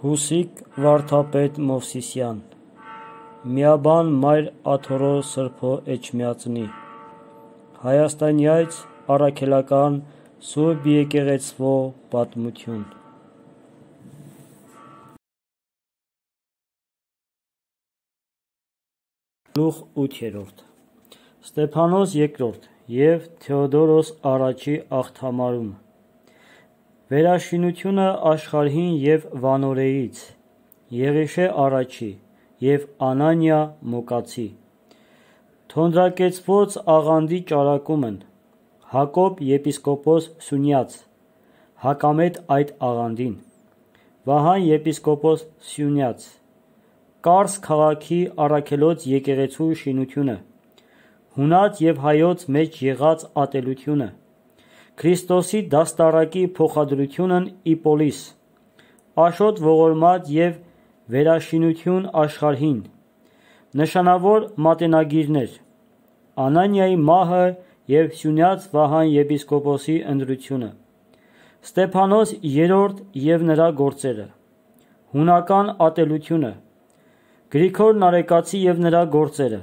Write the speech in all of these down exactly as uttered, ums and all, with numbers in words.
Հուսիկ վարդապետ Մովսիսյան Միաբան մայր աթորո սրբո էջմիածնի Հայաստանյայց առաքելական Սուրբ եկեղեցվո պատմություն Գլուխ ութերորդ Ստեփանոս երկրորդ և Թեոդորոս առաջի աղթամարում Վերաշինությունը աշխարհին և Վանորեից, Եղիշե առաջի և Անանիա Մոկացի, Թոնրակեցված աղանդի ճարակումն, Հակոբ եպիսկոպոս Սյունյաց, հակամետ այդ աղանդին, Վահան եպիսկոպոս Սյունյաց, Կարս քաղաքի առաքելոց եկեղեցու շինությունը, հունած և հայոց մեջ եղած ատելությունը, Քրիստոսի դաստառակի փոխադրությունն Իպոլիս, Աշոտ ողորմած և վերաշինություն աշխարհին, նշանավոր մատենագիրներ, Անանիայի մահը և Սյունյաց Վահան եպիսկոպոսի ընտրությունը, Ստեփանոս երրորդ և նրա գործերը, հունական ատելությունը, Գրիգոր Նարեկացի և նրա գործերը,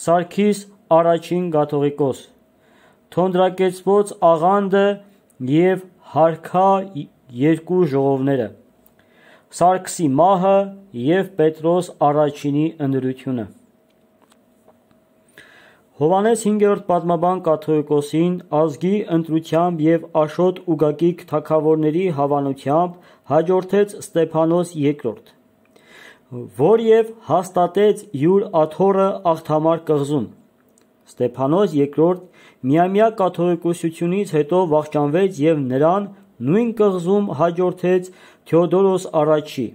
Սարգիս առաջին կաթողիկոս, Թոնրակեցված աղանդը և հարքա երկու ժողովները, Սարգսի մահը և Պետրոս առաջինի ընտրությունը։ Հովհաննես հինգերորդ պատմաբան կաթողիկոսին ազգի ընտրությամբ և Աշոտ ուգագիկ թագավորների հավանությամբ հաջորդեց Ստեփանոս երկրորդ, որ և հաստատեց յուր աթոռը Աղթամար կղզում։ Ստեփանոս երկրորդ միամյա կաթողիկոսությունից հետո վախճանվեց և նրան նույն կղզում հաջորդեց Թեոդորոս առաջի,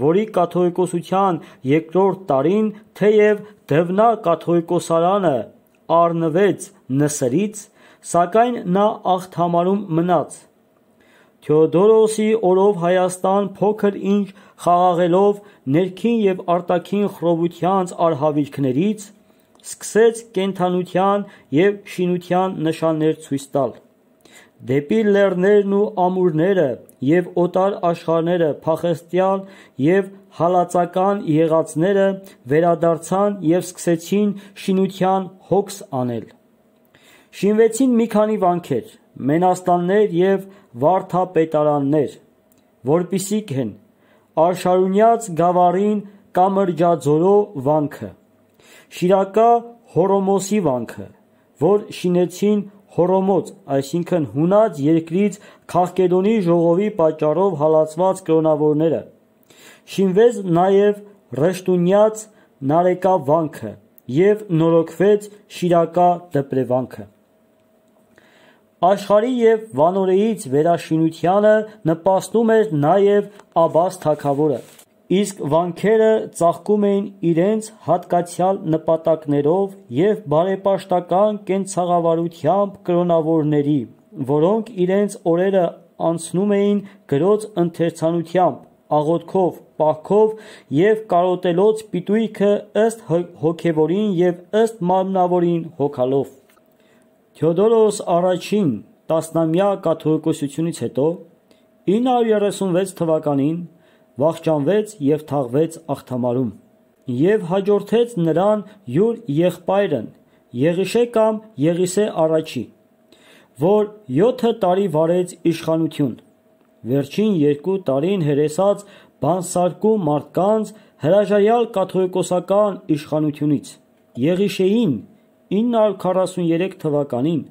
որի կաթողիկոսության երկրորդ տարին, թեև Դվնա կաթողիկոսարանը առնվեց Նսրից, սակայն նա Աղթամարում մնաց։ Թեոդորոսի օրով Հայաստան փոքր ինչ խաղաղելով ներքին և արտաքին խռովությանց արհավիրքներից, սկսեց կենդանության և շինության նշաններ ցույց տալ։ Դեպի լեռներն ու ամուրները և օտար աշխարհները փախստյալ և հալածական եղածները վերադարձան և սկսեցին շինության հոգս անել։ Շինվեցին մի քանի վանքեր, մենաստաններ և վարդապետարաններ, որպիսիք են Արշարունյաց գավառին Կամրջաձորո վանքը, Շիրակա Հոռոմոսի վանքը, որ շինեցին Հոռոմոց, այսինքն հունած երկրից Քաղկեդոնի ժողովի պատճառով հալածված կրոնավորները, շինվեց նաև Ռշտունյաց Նարեկա վանքը և նորոգվեց Շիրակա դպրեվանքը։ Աշխարհի և Վանորեից վերաշինությանը նպաստում էր նաև Աբաս թագավորը, իսկ վանքերը ծաղկում էին իրենց հատկացյալ նպատակներով և բարեպաշտական կենցաղավարությամբ կրոնավորների, որոնք իրենց օրերը անցնում էին գրոց ընթերցանությամբ, աղոթքով, պահքով և կարոտելով պիտույքը ըստ հոգևորին և ըստ մարմնավորին հոգալով։ Թեոդորոս առաջին տասնամյա կաթողիկոսությունից հետո, ինը հարյուր երեսունվեց թվականին, վախճանվեց և թաղվեց Աղթամարում, և հաջորդեց նրան յուր եղբայրն Եղիշե կամ Եղիսե առաջի, որ յոթ տարի վարեց իշխանություն, վերջին երկու տարին հրեսած բանսարկում մարդկանց հրաժարյալ կաթողիկոսական իշխանությունից։ Եղիշեին ինը հարյուր քառասուներեք թվականին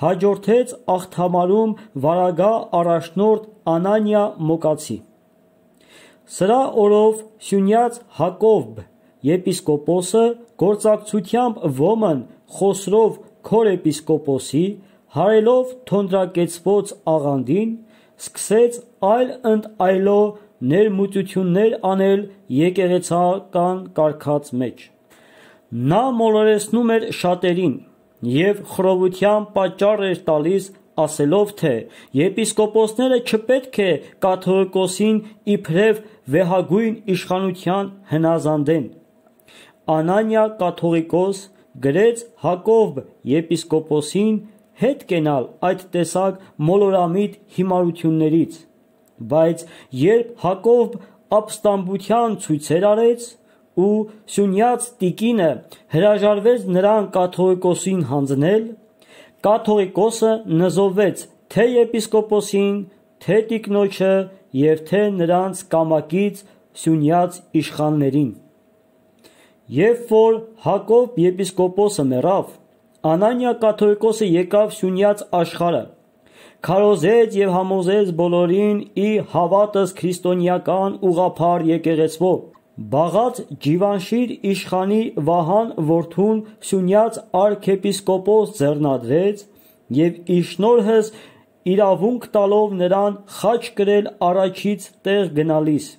հաջորդեց Աղթամարում վարագահ առաջնորդ Անանիա Մոկացի։ Սրա օրով Սյունյաց Հակոբ եպիսկոպոսը գործակցությամբ ոմն Խոսրով քորեպիսկոպոսի, հարելով թոնրակեցված աղանդին, սկսեց այլ ընդ այլո ներմուծություններ անել եկեղեցական կարգաց մեջ։ Նա մոլորեցնում էր շատերին և խռովության պատճառ էր տալիս, ասելով, թե եպիսկոպոսները չպետք է կաթողիկոսին իբրև վեհագույն իշխանության հնազանդեն։ Անանիա կաթողիկոս գրեց Հակոբ եպիսկոպոսին հետ կենալ այդ տեսակ մոլորամիտ հիմարություններից, բայց երբ Հակոբ ապստամբության ցույցեր արեց ու Սյունյաց տիկինը հրաժարվեց նրան կաթողիկոսին հանձնել, կաթողիկոսը նզովվեց թե եպիսկոպոսին, թե տիկնոջը և թե նրանց կամակից Սյունյաց իշխաններին։ Երբ որ Հակոբ եպիսկոպոսը մեռավ, Անանիա կաթողիկոսը եկավ Սյունյաց աշխարհը, քարոզեց և համոզեց բոլորին իր հավատս քրիստոնեական ուղղափառ եկեղեցվով, բաղաց Ջիվանշիր իշխանի Վահան որդուն Սյունյաց արքեպիսկոպոս ձեռնադրեց և իր շնորհս իրավունք տալով նրան խաչ կրել առաջից տեղ գնալիս,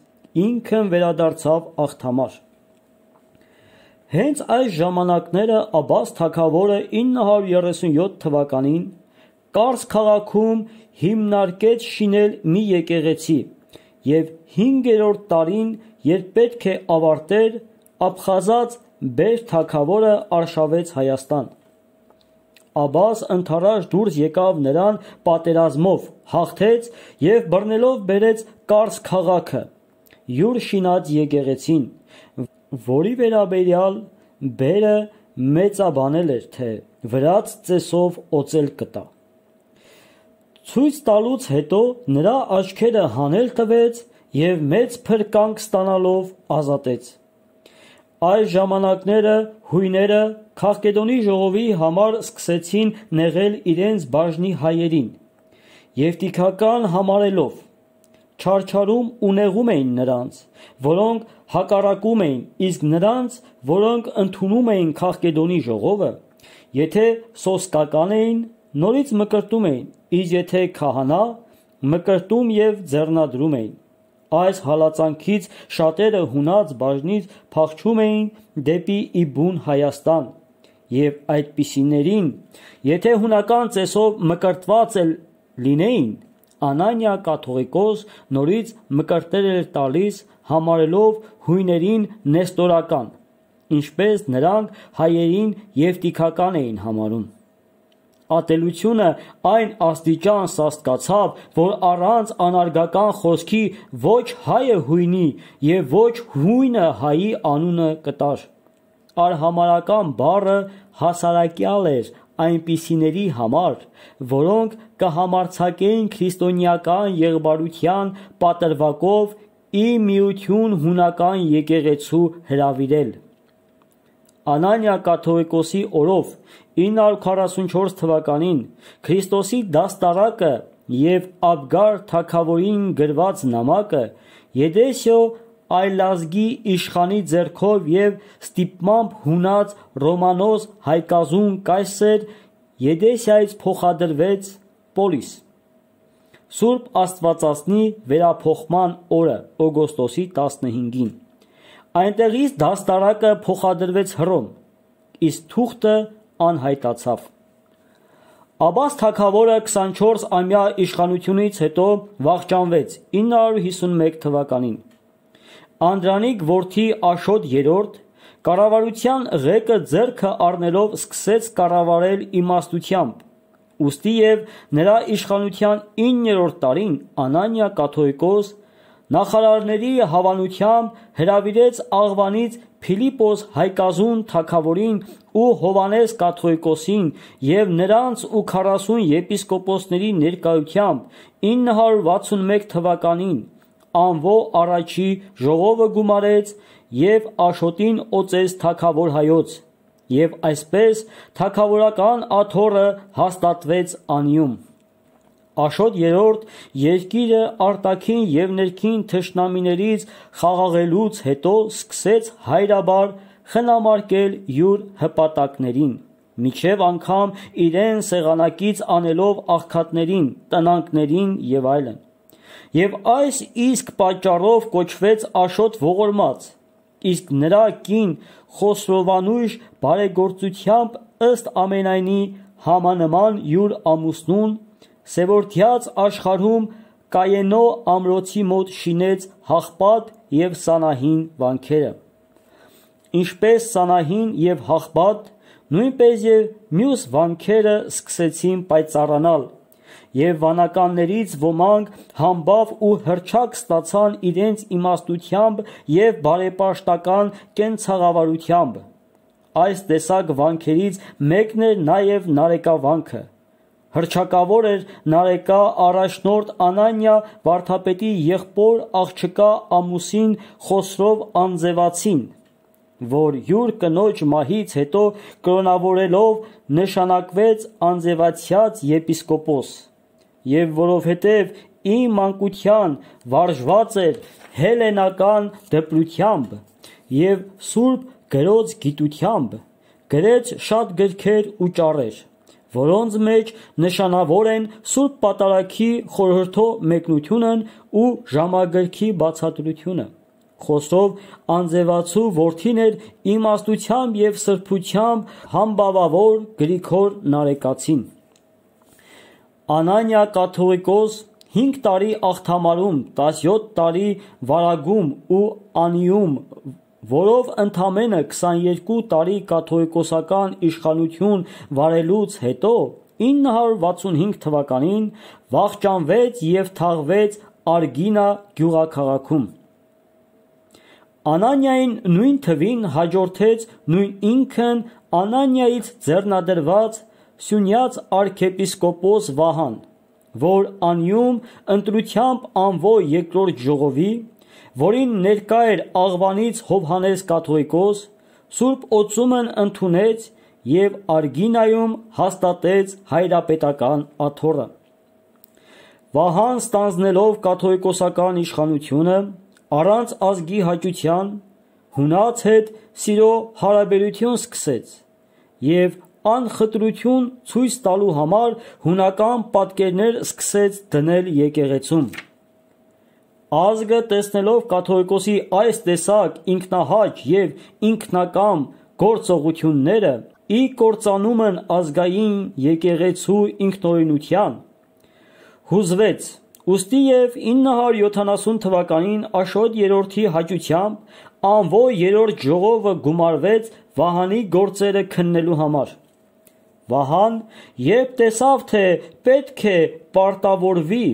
ինքն վերադարձավ աղթամար։ Հենց այս ժամանակները Աբբաս թագավորը ինը հարյուր երեսունյոթ թվականին Կարս քաղաքում հիմնարկեց շինել մի եկեղեցի և հինգերորդ տարին, երբ պետք է ավարտեր, Աբխազած Բեր թագավորը արշավեց Հայաստան։ Աբբաս ընդառաջ դուրս եկավ նրան պատերազմով, հաղթեց և բռնելով բերեց Կարս քաղաքը, յուր շինած եկեղեցին, որի վերաբերյալ Բերը մեծաբանել էր, թե վրաց ծեսով օծել կտա։ Ցույց տալուց հետո նրա աչքերը հանել տվեց և մեծ փրկանք ստանալով ազատեց։ Այս ժամանակները հույները Քաղկեդոնի ժողովի համար սկսեցին նեղել իրենց բաժնի հայերին և տիքական համարելով, չարչարում ու նեղում էին նրանց, որոնք հակառակում էին, իսկ նրանց, որոնք ընդունում էին Քաղկեդոնի ժողովը, եթե սոսկական էին, նորից մկրտում էին, իսկ եթե քահանա, մկրտում և ձեռնադրում էին։ Այս հալածանքից շատերը հունած բաժնից փախչում էին դեպի Իբուն Հայաստան, և այդպիսիներին, եթե հունական ծեսով մկրտված էլ լինեին, Անանիա կաթողիկոս նորից մկրտել էր տալիս, համարելով հույներին նեստորական, ինչպես նրանք հայերին և տիքական էին համարում։ Ատելությունը այն աստիճան սաստկացավ, որ առանց անարգական խոսքի ոչ հայը հույնի և ոչ հույնը հայի անունը կտար։ Արհամարհական բառը հասարակյալ էր այնպիսիների համար, որոնք կհամարձակեին քրիստոնեական եղբարության պատրվակով ի միություն հունական եկեղեցու հրավիրել։ Անանիա կաթողիկոսի օրով ինը հարյուր քառասունչորս թվականին Քրիստոսի դաստառակը և Աբգար թագավորին գրված նամակը Եդեսիո այլազգի իշխանի ձեռքով և ստիպմամբ հունած Ռոմանոս Հայկազուն կայսեր Եդեսիայից փոխադրվեց Պոլիս։ Սուրբ Աստվածածնի վերափոխման օրը օգոստոսի տասնհինգին այնտեղից դաստառակը փոխադրվեց Հռոմ, իսկ թուղթը անհայտացավ։ Աբբաս թագավորը քսանչորսամյա իշխանությունից հետո վախճանվեց ինը հարյուր հիսունմեկ թվականին։ Անդրանիկ որդի Աշոտ երրորդ կառավարության ղեկը ձեռքը առնելով սկսեց կառավարել իմաստությամբ, ուստի և նրա իշխանության իններորդ տարին Անանիա կաթողիկոս նախարարների հավանությամբ հրավիրեց Աղվանից Փիլիպոս Հայկազուն թագավորին ու Հովհաննես կաթողիկոսին և նրանց ու քառասուն եպիսկոպոսների ներկայությամբ ինը հարյուր վաթսունմեկ թվականին անվո առաջի ժողովը գումարեց և Աշոտին օծեց թագավոր հայոց, և այսպես թագավորական աթոռը հաստատվեց անիում։ Աշոտ երրորդ երկիրը արտաքին և ներքին թշնամիներից խաղաղելուց հետո սկսեց հայրաբար խնամարկել յուր հպատակներին, մինչև անգամ իրեն սեղանակից անելով աղքատներին, տնանքներին և այլն։ Եվ այս իսկ պատճառով կոչվեց Աշոտ ողորմած, իսկ նրա կին Խոսրովանույշ բարեգործությամբ ըստ ամենայնի համանման յուր ամուսնուն Սևորդյաց աշխարհում Կայենո ամրոցի մոտ շինեց Հաղպատ և Սանահին վանքերը։ Ինչպես Սանահին և Հաղպատ, նույնպես և մյուս վանքերը սկսեցին պայծառանալ, եւ վանականներից ոմանք համբավ ու հռչակ ստացան իրենց իմաստությամբ եւ բարեպաշտական կենցաղավարությամբ։ Այս տեսակ վանքերից մեկն էր նաեւ Նարեկավանքը։ Հռչակավոր էր Նարեկա առաջնորդ Անանիա վարդապետի եղբոր աղջկա ամուսին Խոսրով Անձևացին, որ յուր կնոջ մահից հետո կրոնավորելով նշանակվեց անձևացյաց եպիսկոպոս, եւ որովհետեւ ի մանկության վարժված էր հելլենական դպրությամբ եւ սուրբ գրոց գիտությամբ, գրեց շատ գրքեր ու ճառեր, որոնց մեջ նշանավոր են Սուրբ Պատարագի խորհրդո մեկնությունն ու ժամագրքի բացատրությունը։ Խոսրով Անձևացու որդին էր իմաստությամբ եւ սրբությամբ համբավավոր Գրիգոր Նարեկացին։ Անանիա կաթողիկոս հինգ տարի աղթամարում, տասնյոթ տարի վարագում ու անիում, որով ընդամենը քսաներկու տարի կաթողիկոսական իշխանություն վարելուց հետո ինը հարյուր վաթսունհինգ թվականին վախճանվեց եւ թաղվեց Արգինա գյուղաքաղաքում։ Անանիային նույն թվին հաջորդեց նույն ինքն Անանիայից ձեռնադրված Սյունյաց արքեպիսկոպոս Վահան, որ անիում ընտրությամբ անվո երկրորդ ժողովի, որին ներկա էր Աղվանից Հովհաննես կաթողիկոս, Սուրբ Օծումն ընդունեց եւ Արգինայում հաստատեց հայրապետական աթոռը։ Վահան ստանձնելով կաթողիկոսական իշխանությունը առանց ազգի հաճության հունաց հետ սիրո հարաբերություն սկսեց եւ անխտրություն ցույց տալու համար հունական պատկերներ սկսեց դնել եկեղեցում։ Ազգը տեսնելով կաթողիկոսի այս տեսակ ինքնահաճ եւ ինքնակամ գործողությունները, ի կործանումն ազգային եկեղեցու ինքնօրինության, հուզվեց, ուստի եւ ինը հարյուր յոթանասուն թվականին Աշոտ երրորդի հաճությամբ անվո երրորդ ժողովը գումարվեց Վահանի գործերը քննելու համար։ Վահան, երբ տեսավ, թե պետք է պարտավորվի,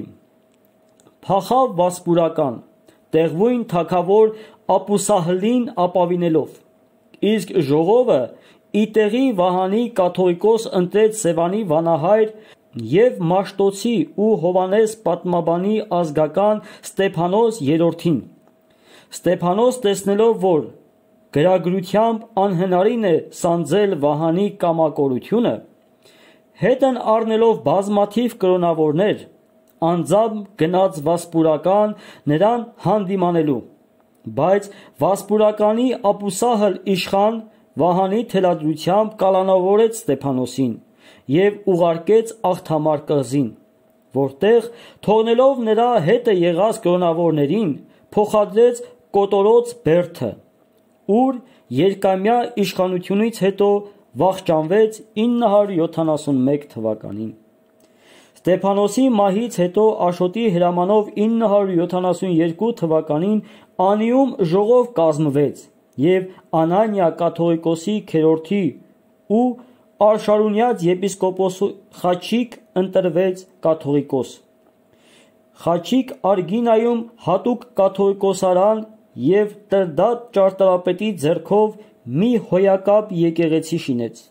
փախավ Վասպուրական, տեղվույն թագավոր Ապուսահլին ապավինելով, իսկ ժողովը ի տեղի Վահանի կաթողիկոս ընտրեց Սևանի վանահայր եւ Մաշտոցի ու Հովհաննես պատմաբանի ազգական Ստեփանոս երրորդին։ Ստեփանոս տեսնելով, որ գրագրությամբ անհնարին է սանձել Վահանի կամակորությունը, հետն առնելով բազմաթիվ կրոնավորներ, անձամբ գնաց Վասպուրական նրան հանդիմանելու, բայց Վասպուրականի Ապուսահլ իշխան Վահանի թելադրությամբ կալանավորեց Ստեփանոսին եւ ուղարկեց Աղթամար կղզին, որտեղ թողնելով նրա հետը եղած կրոնավորներին փոխադրեց Կոտորոց Բերդը, ուր երկամյա իշխանությունից հետո վախճանվեց ինը հարյուր յոթանասունմեկ թվականին։ Ստեփանոսի մահից հետո Աշոտի հրամանով ինը հարյուր յոթանասունյոթ թվականին անիում ժողով կազմվեց եւ Անանիա կաթողիկոսի քերորդի ու Արշարունյաց եպիսկոպոսի Խաչիկ ընտրվեց կաթողիկոս։ Խաչիկ Արգինայում հատուկ կաթողիկոսարան եւ Տրդատ ճարտարապետի ձեռքով մի հոյակապ եկեղեցի շինեց։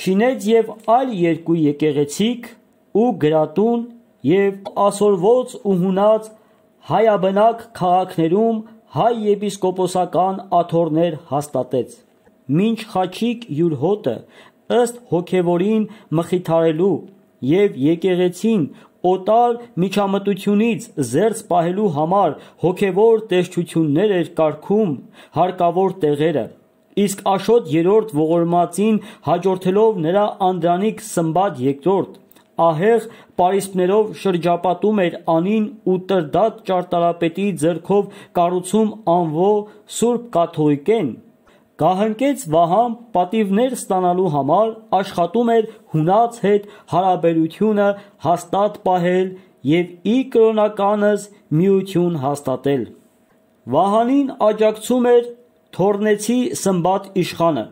Շինեց եւ այլ երկու եկեղեցիկ ու գրատուն եւ ասորոց ու հունած հայաբնակ քաղաքներում հայ եպիսկոպոսական աթոռներ հաստատեց, մինչ Խաչիկ յուր հոտը ըստ հոգևորին մխիթարելու եւ եկեղեցին օտար միջամտությունից զերծ պահելու համար հոգևոր տեսչություններ էր կարգում հարկավոր տեղերը, իսկ Աշոտ երրորդ ողորմածին հաջորդելով նրա անդրանիկ Սմբատ երկրորդ ահեղ պարիսպներով շրջապատում էր անին ու Տրդատ ճարտարապետի ձեռքով կառուցում անվո Սուրբ Կաթողիկեն, գահընկեց Վահան պատիվներ ստանալու համար աշխատում էր հունած հետ հարաբերությունը հաստատ պահել եւ ի կրոնականս միություն։ Վահանին աջակցում էր Թորնեցի Սմբատ իշխանը,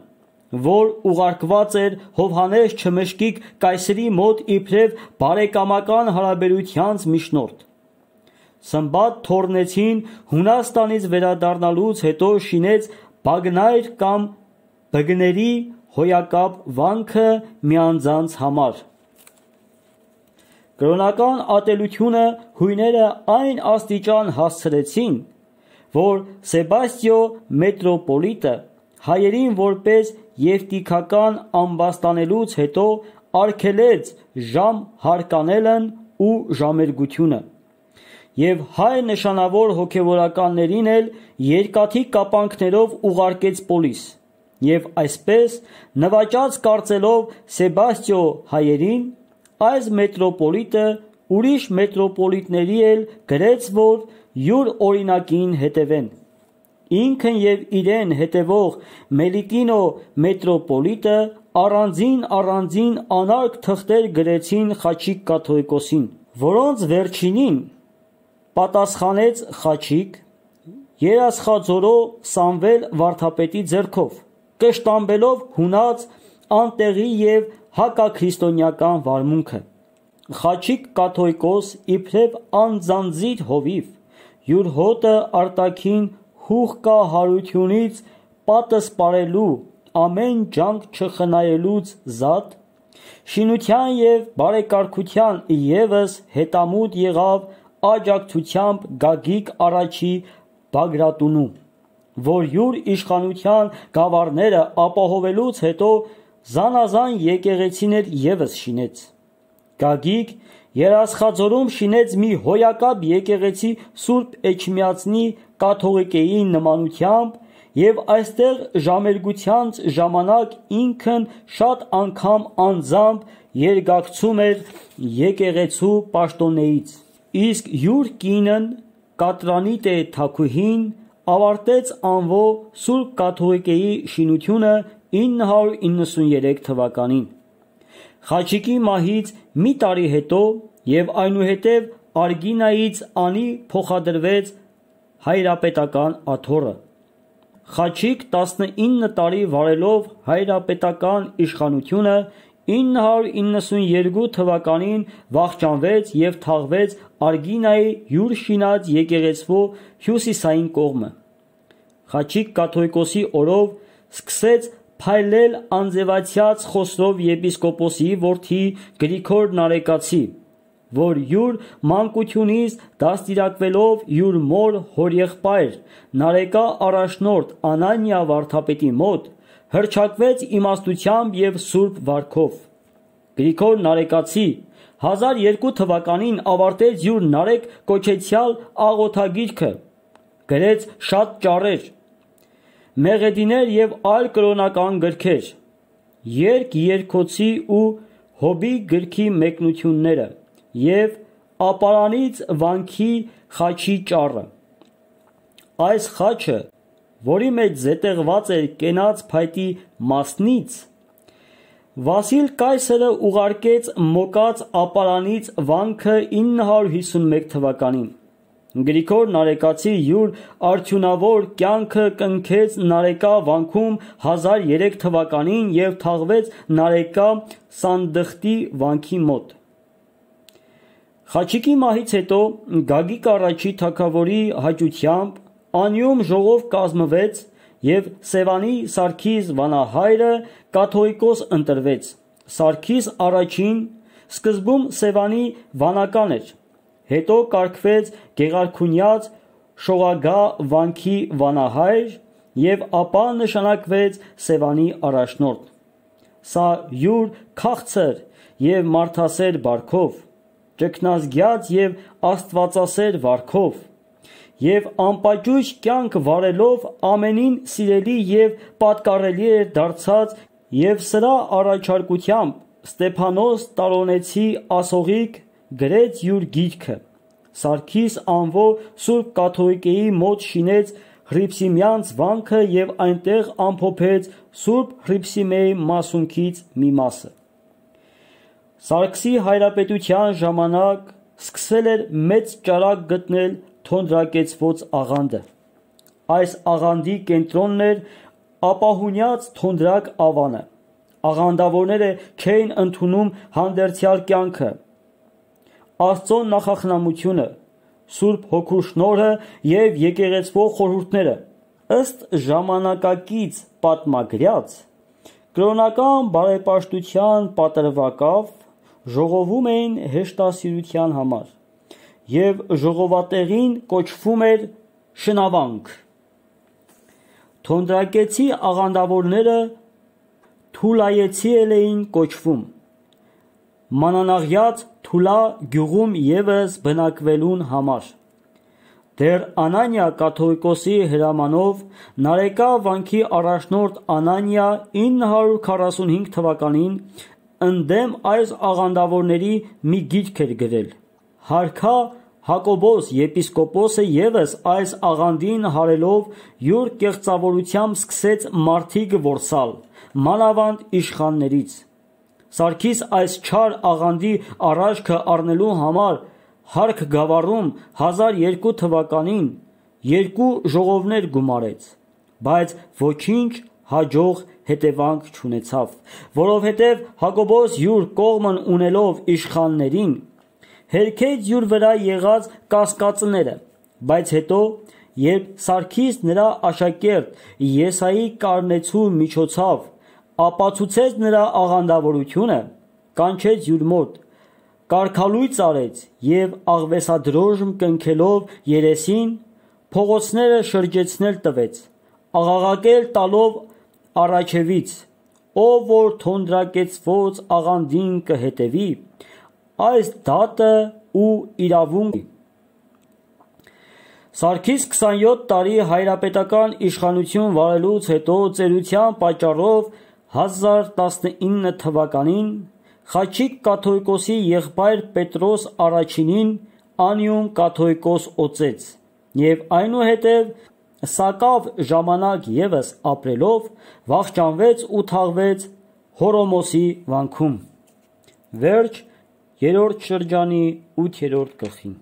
որ ուղարկված էր Հովհաննես Չմշկիկ կայսրի մոտ իբրև բարեկամական հարաբերությանց միջնորդ։ Սմբատ Թորնեցին Հունաստանից վերադառնալուց հետո շինեց Բագնայր կամ Բգների հոյակապ վանքը մի անձանց համար։ Կրոնական ատելությունը հույները այն աստիճան հասցրեցին, որ Սեբաստիո մետրոպոլիտը հայերին որպես եվտիքական ամբաստանելուց հետո արգելեց ժամ հարկանելն ու ժամերգությունը, և հայ նշանավոր հոգևորականներին էլ երկաթի կապանքներով ուղարկեց պոլիս, և այսպես նվաճած կարծելով Սեբաստիո հայերին, այս մետրոպոլիտը ուրիշ մետրոպոլիտների էլ գրեց, որ յուր օրինակին հետևեն։ Ինքն և իրեն հետևող Մելիտինո մետրոպոլիտը առանձին առանձին անարգ թղթեր գրեցին Խաչիկ կաթողիկոսին, որոնց վերջինին պատասխանեց Խաչիկ երասխաձորո Սամվել վարդապետի ձեռքով, կշտամբելով հունած անտեղի և հակաքրիստոնեական վարմունքը։ Խաչիկ կաթողիկոս իբրև անձանձիր հովիվ, յուր հոտը արտաքին հուղկա հարությունից պատսպարելու, ամեն ջանք չխնայելուց զատ, շինության և բարեկարգության ևս հետամուտ եղավ աջակցությամբ Գագիկ առաջի Բագրատունու, որ յուր իշխանության գավառները ապահովելուց հետո զանազան եկեղեցիներ ևս շինեց։ Գագիկ Երասխաձորում շինեց մի հոյակապ եկեղեցի Սուրբ Էջմիածնի կաթողիկեի նմանությամբ և այստեղ ժամերգությանց ժամանակ ինքն շատ անգամ անձամբ երգակցում էր եկեղեցու պաշտոնեից, իսկ յուր կինն Կատրանիտե թագուհին ավարտեց անվո Սուրբ կաթողիկեի շինությունը ինը հարյուր իննսուններեք թվականին։ Խաչիկի մահից մի տարի հետո և այնուհետև Արգինայից անի փոխադրվեց հայրապետական աթոռը։ Խաչիկ տասնինը տարի վարելով հայրապետական իշխանությունը ինը հարյուր իննսունյոթ թվականին վախճանվեց և թաղվեց Արգինայի յուր շինած եկեղեցվո հյուսիսային կողմը։ Խաչիկ կաթողիկոսի օրով սկսեց փայլել անձևացյաց Խոսրով եպիսկոպոսի որդի Գրիգոր Նարեկացի, որ յուր մանկությունից դաստիարակվելով յուր մոր հորեղբայր Նարեկա առաջնորդ Անանիա վարդապետի մոտ, հռչակվեց իմաստությամբ և սուրբ վարքով։ Գրիգոր Նարեկացի հազար երկու թվականին ավարտեց յուր Նարեկ կոչեցյալ աղոթագիրքը, գրեց շատ ճառեր, մեղեդիներ և այլ կրոնական գրքեր, երգ երգոցի ու հոբի գրքի մեկնությունները և ապարանից վանքի խաչի ճառը։ Այս խաչը, որի մեջ զետեղված էր կենաց փայտի մասնից, Վասիլ կայսրը ուղարկեց մոկած ապարանից վանքը ինը հարյուր հիսունմեկ թվականին։ Գրիգոր Նարեկացի յուր արդյունավոր կյանքը կնքեց Նարեկա վանքում հազար երեք թվականին և թաղվեց Նարեկա Սանդխտի վանքի մոտ։ Խաչիկի մահից հետո Գագիկ առաջի թագավորի հաճությամբ անիում ժողով կազմվեց և Սևանի Սարգիս վանահայրը կաթողիկոս ընտրվեց։ Սարգիս առաջին սկզբում Սևանի վանական էր, հետո կարգվեց Գեղարքունյաց Շողագահ վանքի վանահայր և ապա նշանակվեց Սևանի առաջնորդ։ Սա յուր քաղցր և մարդասեր բարքով, ճգնազգյաց և աստվածասեր վարքով և անպաճույճ կյանք վարելով ամենին սիրելի և պատկառելի էր դարձած և սրա առաջարկությամբ Ստեփանոս Տարոնեցի ասողիկ գրեց յուր գիրքը։ Սարգիս անվո Սուրբ կաթողիկեի մոտ շինեց Հռիփսիմյանց վանքը և այնտեղ ամփոփեց Սուրբ Հռիփսիմեի մասունքից մի մասը։ Սարգսի հայրապետության ժամանակ սկսել էր մեծ ճարակ գտնել թոնրակեցված աղանդը։ Այս աղանդի կենտրոնն էր ապահունյաց թոնդրակ ավանը։ Աղանդավորները չէին ընդունում հանդերձյալ կյանքը, Աստծո նախախնամությունը, Սուրբ Հոգու շնորհը եւ եկեղեցվող խորհուրդները։ Ըստ ժամանակակից պատմագրած, կրոնական բարեպաշտության պատրվակավ ժողովում էին հեշտասիրության համար, եւ ժողովատեղին կոչվում էր շնավանք։ Թոնդրակեցի աղանդավորները թուլայեցի էին կոչվում։ Մանանաղյաց Թուլա գյուղում եւս բնակվելուն համար։ Դեռ Անանիա կաթողիկոսի հրամանով Նարեկա վանքի առաջնորդ Անանիա ինը հարյուր քառասունհինգ թվականին ընդդեմ այս աղանդավորների մի գիրք էր գրել։ Հարքա Հակոբոս եպիսկոպոսը եւս այս աղանդին հարելով յուր կեղծավորությամբ սկսեց մարդիկ որսալ, մանավանդ իշխաններից։ Սարգիս այս չար աղանդի առաջքը առնելու համար Հարք գավառում հազար երկու թվականին երկու ժողովներ գումարեց, բայց ոչինչ հաջող հետևանք չունեցավ, որովհետև Հակոբոս յուր կողմն ունելով իշխաններին հերքեց յուր վրա եղած կասկածները, բայց հետո, երբ Սարգիս նրա աշակերտ Եսայի Կարնեցու միջոցով ապացուցեց նրա աղանդավորությունը, կանչեց յուր մոտ, կարգալույծ արեց եւ աղվեսադրոժմ կնքելով երեսին, փողոցները շրջեցնել տվեց, աղաղակել տալով առաջևից, ով որ թոնդրակեցված աղանդին կհետևի, այս դատը ու իրավունք։ Սարգիս քսանյոթ տարի հայրապետական իշխանություն վարելուց հետո ծերության պատճառով հազար տասնինը թվականին Խաչիկ կաթողիկոսի եղբայր Պետրոս առաջինին անիում կաթողիկոս օծեց եւ այնուհետեւ սակավ ժամանակ եւս ապրելով վախճանվեց ու թաղվեց Հորոմոսի վանքում։ Վերջ երրորդ շրջանի ութերորդ գլխին։